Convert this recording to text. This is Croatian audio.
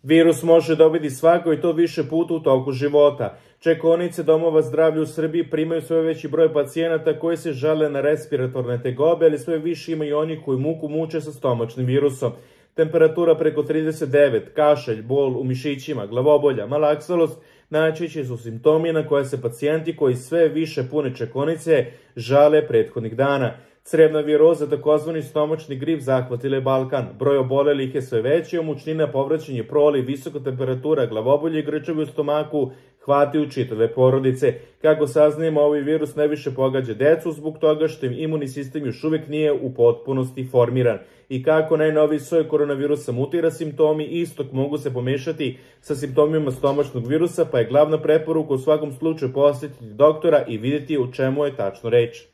Virus može dobiti svako i to više puta u toku života. Čekaonice domova zdravlja u Srbiji primaju sve veći broj pacijenata koji se žale na respiratorne tegobe, ali sve više ima i onih koji muku muče sa stomačnim virusom. Temperatura preko 39, kašalj, bol u mišićima, glavobolja, malaksalost, najčešći su simptomi na koje se pacijenti koji sve više pune čekaonice žale prethodnih dana. Crevna viroza, takozvani stomačni grip, zahvatila je Balkan. Broj obolelih je sve veći, mučnina, povraćanje, proliv, visoka temperatura, glavobolje i grčevi u stomaku hvataju čitave porodice. Kako saznajemo, ovaj virus najviše pogađa decu zbog toga što im imunni sistem još uvijek nije u potpunosti formiran. I kako najnoviji soj koronavirusa mutira, simptomi istog mogu se pomešati sa simptomima stomačnog virusa, pa je glavna preporuka u svakom slučaju posjetiti doktora i vidjeti u čemu je tačno reč.